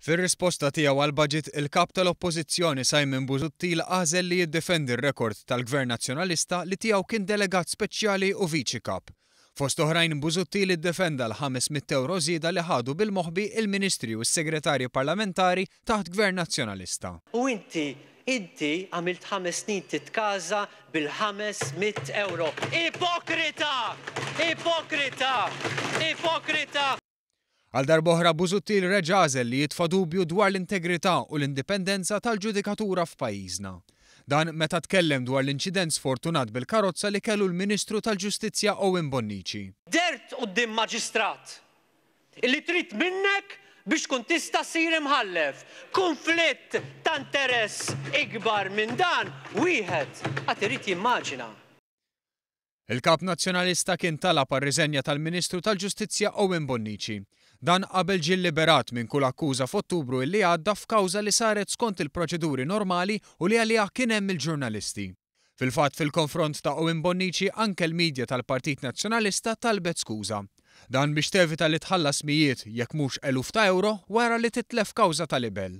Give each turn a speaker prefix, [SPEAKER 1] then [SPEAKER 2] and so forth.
[SPEAKER 1] Fir-risposta tiegħu għall-budget, il-Kap tal-Oppożizzjoni Simon Busuttil għażel li jiddefendi r-rekord tal-Gvern Nazzjonalista li tiegħu kien delegat speċjali u Viċi Kap. Fost oħrajn Busuttil iddefenda l-500 ewro żieda li ħadu bil-moħbi il-Ministri u s-Segretarji Parlamentari taħt Gvern Nazzjonalista.
[SPEAKER 2] U inti, inti għamilt ħames snin titkaża bil-ħames mitt ewro. Ipokrita! Ipokrita! Ipokrita!
[SPEAKER 1] Għal darb'oħra Busuttil reġa' għażel li jitfa' dubju dwar l-integrità u l-indipendenza tal-ġudikatura f'pajjiżna. Dan meta tkellem dwar l-inċident sfortunat bil-karozza li kellu l-Ministru tal-Ġustizzja Owen Bonnici.
[SPEAKER 2] Dehrt quddiem maġistrat li trid minnek biex tkun tista' ssir imħallef. Kunflitt ta' interess ikbar minn dan wieħed għad irid jimmaġina.
[SPEAKER 1] Il-Kap Nazzjonalista kien talab għar-riżenja tal-Ministru tal-Ġustizzja Owen Bonnici. Dan qabel ġie lliberat minn kull akkuża f'Ottubru illi għadda f'kawża li saret skont il-proċeduri normali u li għaliha kien hemm il-ġurnalisti. Fil-fatt fil-konfront ta' Owen Bonnici anke l-media tal-Partit Nazzjonalista talbet skuża. Dan biex tevita li tħallas mijiet, jekk mhux eluf ta' ewro wara li titlef kawża ta' libell.